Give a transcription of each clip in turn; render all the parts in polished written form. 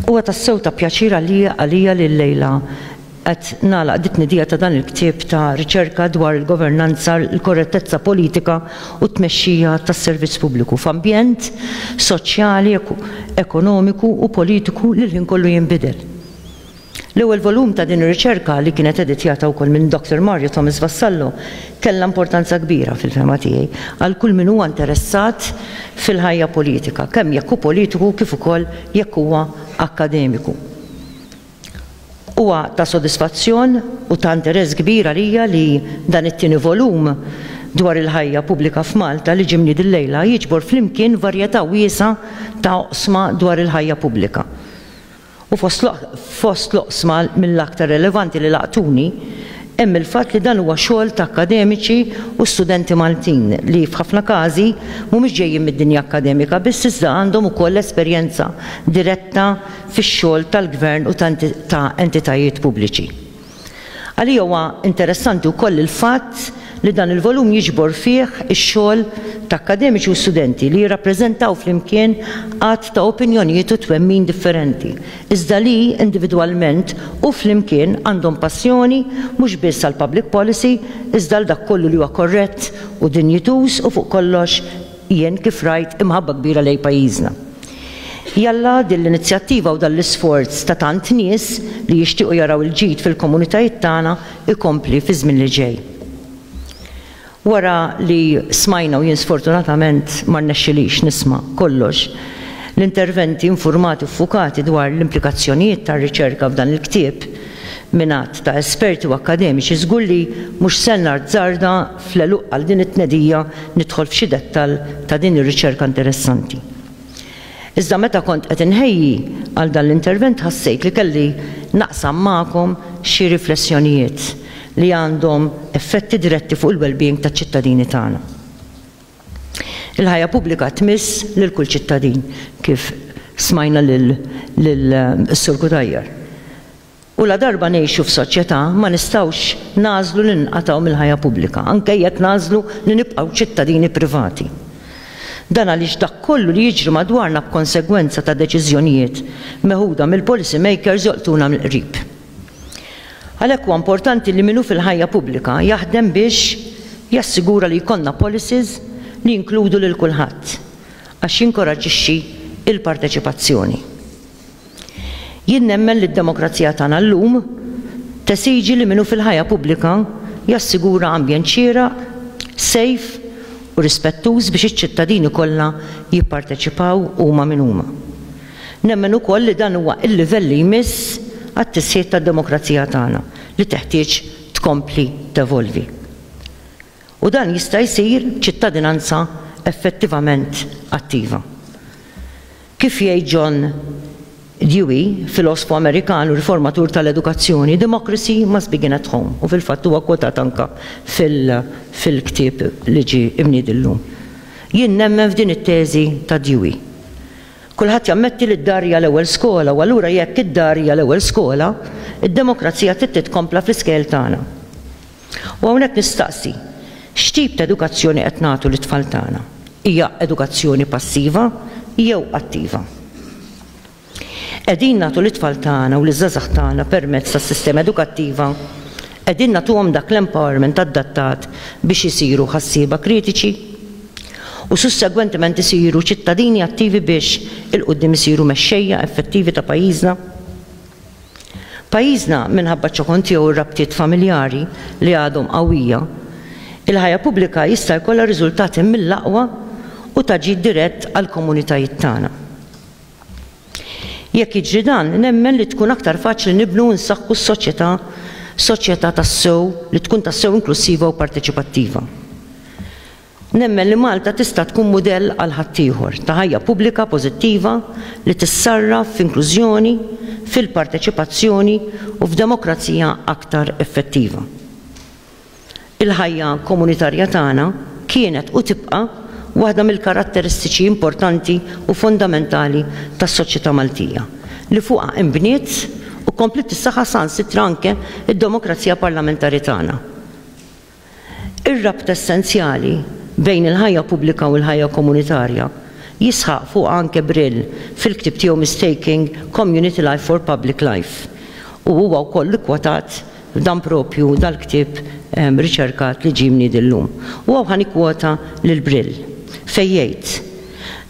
Huwa tassew ta' pjaċir għalija għalija li llejla qed nagħlaq dit-tnedija ta' dan il-ktieb ta' riċerka dwar il-governanza, il-korrettezza politika u t-tmexxija tas-servizz pubbliku f'ambjent soċjali, ekonomiku u politiku li l-ħin kollu jinbidel. L-ewwel volum ta' din ir-riċerka, li kienet editjata wkoll minn Dr. Mario Thomas Vassallo, kellha importanza kbira fil-fehma tiegħi għal kull min huwa interessat fil-ħajja politika, kemm jekk hu politiku kif ukoll jekk huwa akkademiku. Huwa ta' sodisfazzjon u ta' interess kbir għalija li dan it-tieni volum dwar il-ħajja pubblika f'Malta li ġie mniedi llejla jiġbor flimkien varjetà wiesgħa ta' oqsma dwar il-ħajja pubblika. U fost fost l-oqsma mill-aktar relevanti li laqtuni hemm il-fatt li dan huwa xogħol ta' akkademiċi u studenti Maltin li f'ħafna każi mhumiex ġejjin mid-dinja akkademika biss iżda għandhom ukoll esperjenza diretta fix-xogħol tal-gvern u ta' entitajiet pubbliċi. Għalija huwa interessanti wkoll il-fatt li dan il-volum jiġbor fih ix-xogħol ta' akkademiċi u studenti li jirrappreżentaw flimkien għadd ta' opinjonijiet u twemmin differenti, iżda li, individwalment u flimkien, għandhom passjoni mhux biss għall-public policy iżda għal dak kollu li huwa korrett u dinjituż u fuq kollox, jien kif rajt, imħabba kbira lejn pajjiżna. Jalla din l-inizjattiva u dan l-isforz ta' tant nies li jixtiequ jaraw il-ġid fil-komunitajiet tagħna jkompli fiż-żmien li ġej. Wara li smajna u jien sfortunatament ma rnexxilix nisma' kollox, l-interventi infurmati u ffukati dwar l-implikazzjonijiet tar-riċerka f'dan il-ktieb minn għadd ta' esperti u akkademiċi żgur li mhux se nazzarda fl-għeluq għal din it-tnedija nidħol f'xi dettall ta' din ir-riċerka interessanti. Iżda meta kont qed inħejji għal dan l-intervent ħassejt li kelli naqsam magħkom xi riflessjonijiet li għandhom effetti diretti fuq il-well-being taċ-ċittadini tagħna. Il-ħajja pubblika tmiss lil kull ċittadin, kif smajna lil lil Sur Cutajar. U ladarba ngħixu f'soċjetà ma nistgħux nagħżlu li ninqatgħu mill-ħajja pubblika, anke jekk nagħżlu li nibqgħu ċittadini privati. Dan għaliex dak kollu li jiġri madwarna b'konsegwenza ta' deċiżjonijiet meħuda mill-policy makers jolqtuna mill-qrib. Għalhekk huwa importanti li min hu fil-ħajja pubblika jaħdem biex jassigura li jkollna policies li jinkludu lil kulħadd għax jinkoraġġixxi l-parteċipazzjoni. Jien nemmen li d-demokrazija tagħna llum tesiġi li min hu fil-ħajja pubblika jassigura ambjent xieraq, safe u rispettuż biex iċ-ċittadini kollha jipparteċipaw huma min huma. Nemmen ukoll li dan huwa l-livell li jmiss għat-tisħiħ tad-demokrazija tagħna li teħtieġ tkompli tevolvi. U dan jista' jsir b'ċittadinanza effettivament attiva. Kif jgħid John Dewey, filosfu Amerikan u riformatur tal-edukazzjoni, democracy must begin at home, u fil-fatt huwa kwotat anke fil-ktieb li ġie imniedi llum. Jien nemmen f'din it-teżi ta' Dewey. Kulħadd jammetti li d-dar hija l-ewwel skola u allura jekk id-dar hija l-ewwel skola, id-demokrazija trid titkompla fl-iskejjel tagħna. U hawnhekk nistaqsi, x'tip ta' edukazzjoni qed nagħtu lit-tfal tagħna? Hija edukazzjoni passiva jew attiva? Qegħdin nagħtu lit-tfal tagħna u liż-żgħażagħ tagħna permezz tas-sistema edukattiva, qegħdin nagħtuhom dak l-empowerment adattat biex isiru ħassieba kritiċi u sussegwentement isiru ċittadini attivi biex 'il quddiem isiru mexxejja effettivi ta' pajjiżna? Pajjiżna, minħabba ċ-ċokon tiegħu u r-rabtiet familjari li għadhom qawwija, il-ħajja pubblika jista' jkollha riżultati mill-aqwa u ta' ġid dirett għall-komunitajiet tagħna. Jekk jiġri dan, nemmen li tkun aktar faċli nibnu u nsaħħu s-soċjetà, soċjetà tassew li tkun tassew inklussiva u parteċipattiva. Nemmen li Malta tista' tkun mudell għal ħaddieħor ta' ħajja pubblika pożittiva li tissarraf f'inklużjoni, fil-parteċipazzjoni u f'demokrazija aktar effettiva. Il-ħajja komunitarja tagħna kienet u tibqa' waħda mill-karatteristiċi importanti u fundamentali tas-soċjetà Maltija li fuqha inbniet u kompliet tissaħħaħ saħansitra anke d-demokrazija parlamentari tagħna. Ir-rabta essenzjali bejn il-ħajja pubblika u l-ħajja komunitarja. Jisħaq fuqha anke Brill fil-ktieb tiegħu Mistaking Community Life for Public Life u huwa wkoll ikkwotat f'dan proprju dal-ktieb riċerkat li ġie mniedi llum. U hawn ħa nikkwota lil Brill fejn jgħid,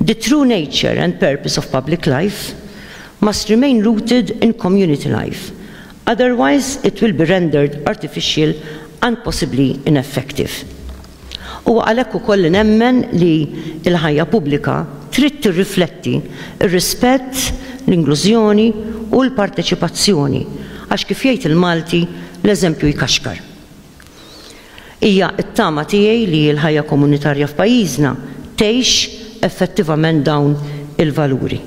The true nature and purpose of public life must remain rooted in community life, otherwise it will be rendered artificial and possibly ineffective. Huwa għalhekk ukoll li nemmen li l-ħajja pubblika trid tirrifletti r-rispett, l-inklużjoni u l-parteċipazzjoni għax kif jgħid il-Malti, l-eżempju jkaxkar. Hija t-tama tiegħi li l-ħajja komunitarja f'pajjiżna tgħix effettivament dawn il-valuri.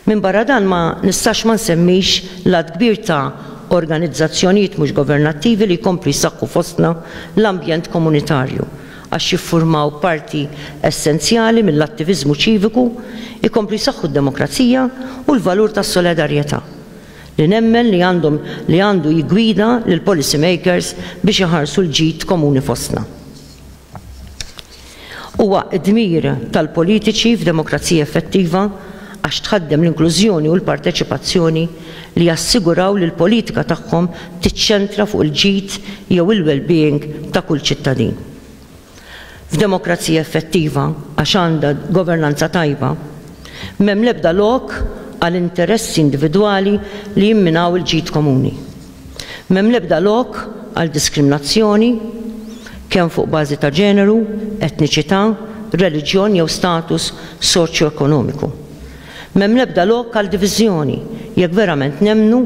Minbarra dan ma nistax ma nsemmix l-għadd kbir ta' organizzazzjonijiet mhux governattivi li jkomplu jsaħħu fostna l-ambjent komunitarju għax jiffurmaw parti essenzjali mill-attiviżmu ċiviku, ikomplu jsaħħu d-demokrazija u l-valur tas-solidarjetà li nemmen li għandhom li għandu jiggwida lill-policy makers biex iħarsu l-ġid komuni fostna. Huwa d-dmir tal-politiċi f'demokrazija effettiva għax tħaddem l-inklużjoni u l-parteċipazzjoni li jassiguraw li l-politika tagħhom tiċċentra fuq il-ġid jew il-well-being ta' kull ċittadin. F'demokrazija effettiva, għax għandha governanza tajba, m'hemm l-ebda lok għal interessi individwali li jimminaw il-ġid komuni. M'hemm l-ebda lok għal diskriminazzjoni, kemm fuq bażi ta' ġeneru, etniċità, reliġjon jew status soċjoekonomiku. M'hemm l-ebda lok għal diviżjoni jekk verament nemmnu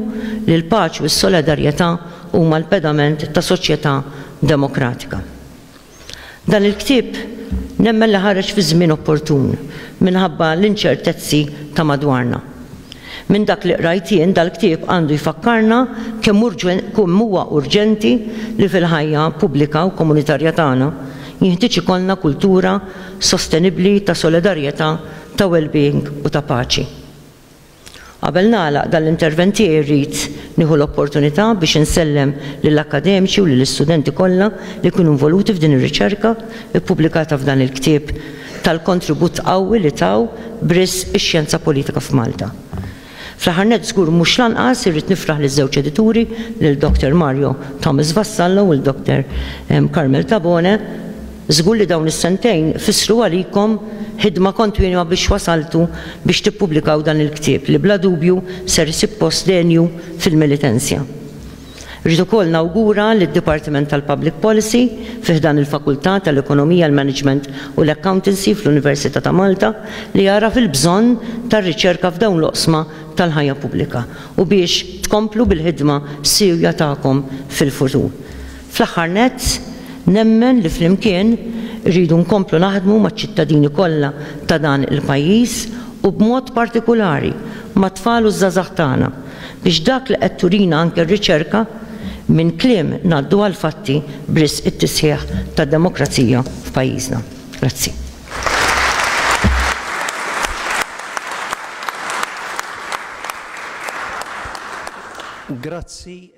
li l-paċi u s-solidarjetà huma l-pedament ta' soċjetà demokratika. Dan il-ktieb nemmen li ħareġ fi żmien opportun minħabba l-inċertezzi ta' madwarna. Minn dak li qrajt jien dal-ktieb għandu jfakkarna kemm kemm huwa urġenti li fil-ħajja pubblika u komunitarja tagħna jinħtieġ ikollna kultura sostenibbli ta' solidarjetà, ta' well-being u ta' paċi. Qabel nagħlaq dan l-intervent tiegħi rrid nieħu l-opportunità biex insellem lill-akkademiċi u lill-istudenti kollha li kienu involuti f'din ir-riċerka ppubblikata f'dan il-ktieb tal-kontribut qawwi li taw b'risq ix-xjenza politika f'Malta. Fl-aħħar nett żgur mhux l-anqas irrid nifraħ liż-żewġ edituri, lil Dr. Mario Thomas Vassallo u l-Dr. Carmel Tabone, Żgur li dawn is-sentejn fissru għalikom ħidma kontinwa biex wasaltu biex tippubblikaw dan il-ktieb li bla dubju ser isib post denju fil-Melitensia. Rrid ukoll nawgura lid-Dipartiment tal-Public Policy fi ħdan il-Fakultà tal-Ekonomija, l-Management u l-Accountancy fl-Università ta' Malta li għaraf il-bżonn tar-riċerka f'dawn l-oqsma tal-ħajja pubblika u biex tkomplu bil-ħidma siewja tagħkom fil-futur. Fl-aħħar nett, nemmen li flimkien irridu nkomplu naħdmu maċ-ċittadini kollha ta' dan il-pajjiż u b'mod partikulari mat-tfal u ż-żgħażagħ tagħna biex dak li qed turina anke r-riċerka, minn kliem ngħaddu għall-fatti b'risq it-tisħiħ tad-demokrazija f'pajjiżna. Grazzi. Grazzi.